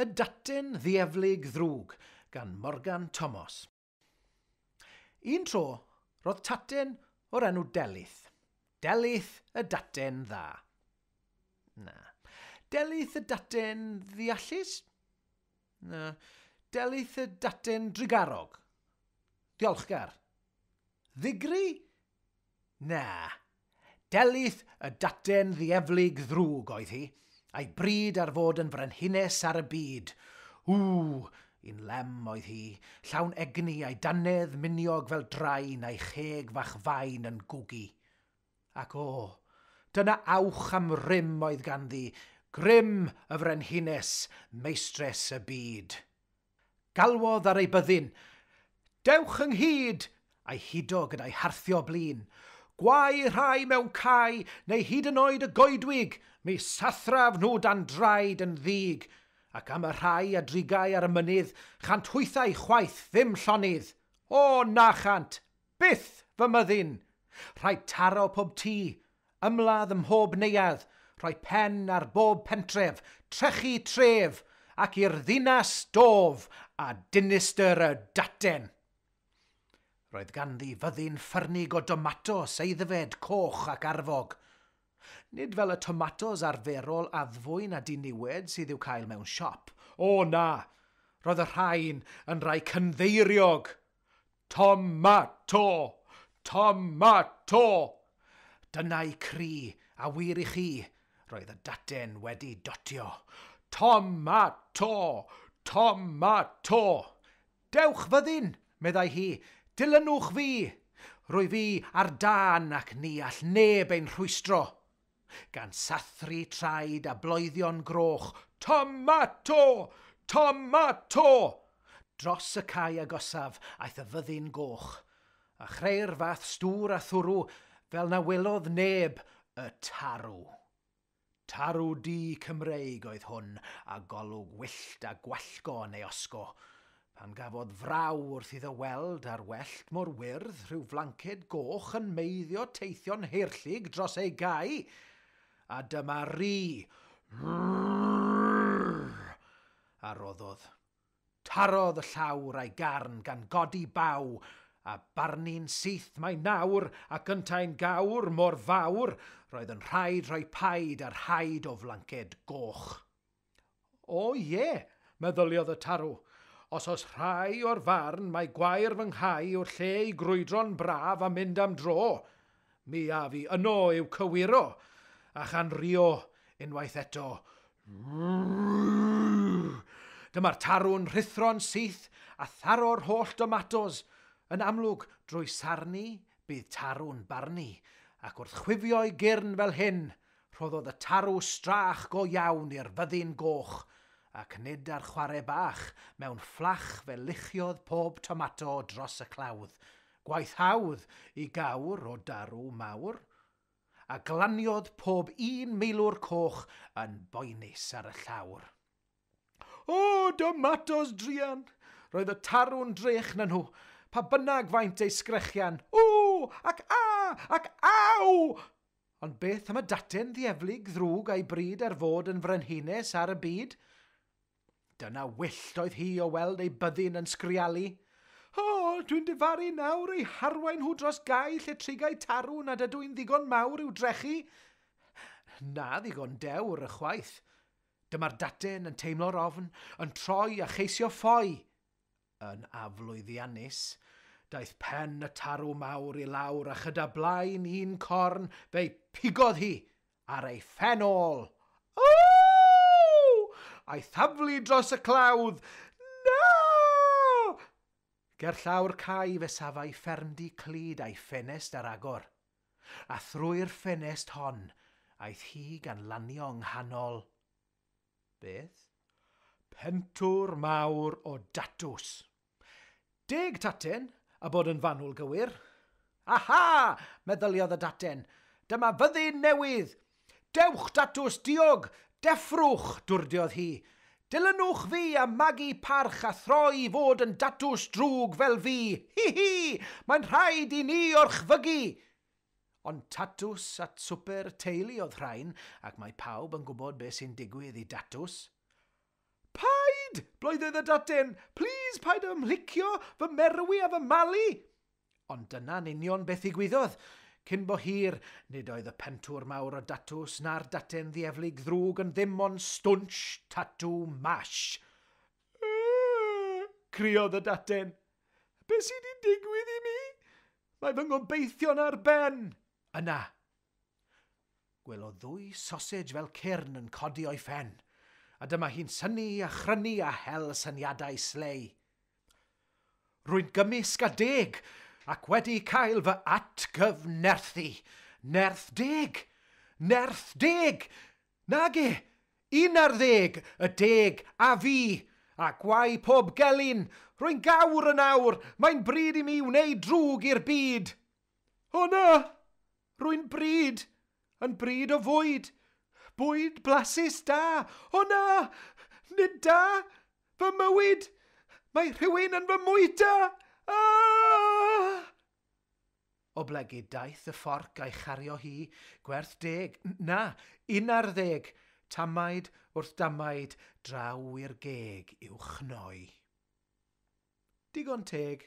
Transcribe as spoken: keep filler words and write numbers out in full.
Y Daten Ddieflig Ddrwg gan Morgan Tomos. Un tro, roedd taten o'r enw Delyth. Delyth y daten dda. Na. Delyth y daten ddeallus? Na. Delyth y daten drugarog. Diolchgar. Ddigri? Na. Delyth y daten ddieflig ddrwg oedd hi, a'i bryd ar fod yn frenhines ar y byd. Ww, un lem oedd hi, llawn egni a'i dannedd miniog fel drain a'i cheg fach fain yn gwgu. Ac o, dyna awch am rym oedd ganddi, grym y frenhines, meistres y byd. Galwodd ar ei byddin, "Dewch ynghyd!" a'i hudo gyda'i harthio blin. "Gwae rhai mewn cae, neu hyd yn oed y goedwig, mi sathraf nhw dan draed yn ddig. Ac am y rhai a drigau ar y mynydd, chant hwythau chwaith ddim llonydd. O, na chant, byth fy myddin! Rhaid taro pob tŷ, ymladd ym mhob neuadd, rhoi pen ar bob pentref, trechu tref, ac i'r ddinas dof a dinistr y daten." Roedd ganddi fyddin ffyrnig o domatos aeddfed, coch ac arfog. Nid fel y tomatos arferol addfwyn a diniwed sydd i'w cael mewn siop. O na! Roedd y rhain yn rhai cynddeiriog. Tomato! Tomato! Dyna'i cri, a wir i chi, roedd y daten wedi dotio. Tomato! Tomato! "Dewch fyddin," meddai hi, "dilynwch fi. Rwy fi ar dân ac ni all neb ein rhwystro." Gan sathru traed a bloeddio'n groch, "Tomato! Tomato!" Dros y cae agosaf aeth y fyddin goch, a chreu'r fath stŵr a thwrw fel na welodd neb y tarw. Tarw du Cymreig oedd hwn, a golwg wyllt a gwallgo yn ei osgo, pan gafodd fraw wrth iddo weld ar wellt mor wyrdd rhyw flanced goch yn meiddio teithio'n heirllig dros ei gae. A dyma ri, a roddodd. Tarodd y llawr a'i garn gan godi baw, a barnu'n syth mai nawr ac yntau'n gawr mor fawr, roedd yn rhaid rhoi paid ar haid o flanced goch. "O ie," meddyliodd y tarw, "os oes rhai o'r farn mai gwair fy nghae yw'r lle i grwydro'n braf a mynd am dro, mi a fi yno i'w cywiro," a chan rio unwaith eto. Dyma'r tarw'n rhuthro'n syth a tharo'r holl domatos. Yn amlwg, drwy sarnu, bydd tarw'n barnu, ac wrth chwifio'i gyrn fel hyn, rhoddodd y tarw strach go iawn i'r fyddin goch, ac nid ar chwarae bach, mewn fflach fe luchiodd pob tomato dros y clawdd. Gwaith hawdd i gawr o darw mawr. A glaniodd pob un meilwr coch yn boenus ar y llawr. O, domatos druan! Roedd y tarw'n drech na nhw, pa bynnag faint ei sgrechian. O, ac a, ac aw! Ond beth am y daten ddieflig ddrwg a'i bryd ar fod yn frenhines ar y byd? Dyna wyllt oedd hi o weld ei byddin yn sgrialu. "O, dwi'n difaru nawr eu harwain nhw dros gae lle trigau tarw nad ydw i'n ddigon mawr i'w drechu. Na ddigon dewr ychwaith." Dyma'r daten yn teimlo'r ofn, yn troi a cheisio ffoi. Yn aflwyddiannus, daeth pen y tarw mawr i lawr a chyda blaen un corn fe'i pigodd hi ar ei phen ôl. O! A'i thaflu dros y clawdd. Na! Gerllaw'r cae fe safai ffermdy clyd a'i ffenest ar agor. A thrwy'r ffenest hon, aeth hi gan lanio yng nghanol. Beth? Pentwr mawr o datws. Deg taten, a bod yn fanwl gywir. "Aha!" meddyliodd y daten. "Dyma fyddin newydd. Dewch datws diog, deffrwch," dwrdiodd hi. "Dilynwch fi a magu parch a throi i fod yn datws drwg fel fi. Hi hi! Mae'n rhaid i ni orchfygu!" Ond tatws at swper y teulu oedd rhain, ac mae pawb yn gwybod beth sy'n digwydd i datws. Paid! Paid! Bloeddodd y daten. Plis, paid â mhlicio, fy merwi a fy malu. Ond dyna'n union beth ddigwyddodd. Cyn bo hir, nid oedd y pentwr mawr o datws na'r daten ddieflig ddrwg yn ddim ond stwnsh tatw mash. Criodd y daten. Be sydd wedi digwydd i mi? Mae fy ngobeithion ar ben. Yna, gwelodd ddwy sausage fel cyrn yn codi o'i phen. A dyma hi'n synnu a chrynu a hel syniadau slei. Rwy'n gymysg a deg, ac wedi cael fy atgyfnerthu. Nerth deg! Nerth deg! Nage! Un ar ddeg, y deg a fi! A gwae pob gelyn, rwy'n gawr yn awr, mae'n bryd i mi wneud drwg i'r byd. O na! Rwy'n bryd, yn bryd o fwyd. Bwyd blasus da. O na! Nid da! Fy mywyd! Mae rhywun yn fy mwyta! Ah! Oblegid daeth y fforc a'i chario hi, gwerth deg, na, un ar ddeg, tamaid wrth damaid, draw i'r geg i'w chnoi. Digon teg.